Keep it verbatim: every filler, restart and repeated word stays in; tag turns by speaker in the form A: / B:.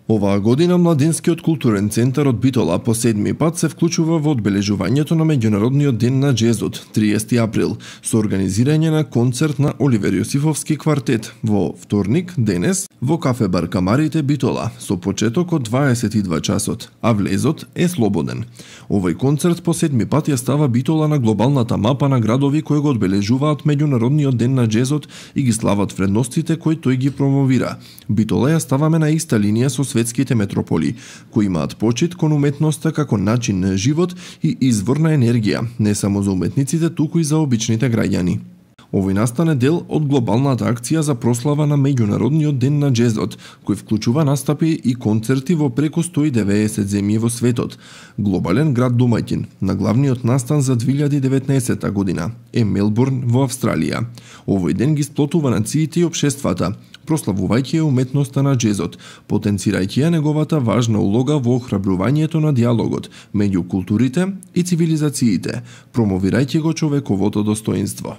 A: Оваа година Младинскиот културен центар од Битола по седми пат се вклучува во одбележувањето на Меѓународниот ден на џезот, триесети април, со организирање на концерт на Оливер Јосифовски квартет во вторник, денес, во кафе бар Камарите Битола, со почеток од дваесет и два часот, а влезот е слободен. Овој концерт по седми пат ја става Битола на глобалната мапа на градови кои го одбележуваат Меѓународниот ден на џезот и ги слават вредностите кои тој ги промовира. Битола ја ставаме на иста линија со светските метрополи, кои имаат почит кон уметноста како начин на живот и извор на енергија, не само за уметниците, туку и за обичните граѓани. Овој настане дел од глобалната акција за прослава на Меѓународниот ден на џезот, кој вклучува настапи и концерти во преку сто и деветдесет земји во светот. Глобален град домаќин на главниот настан за две илјади и деветнаесетта година е Мелбурн во Австралија. Овој ден ги сплотува нациите и општествата, прославувајќи ја уметноста на џезот, потенцирајќи ја неговата важна улога во охрабрувањето на диалогот меѓу културите и цивилизациите, промовирајќи го човековото достоинство.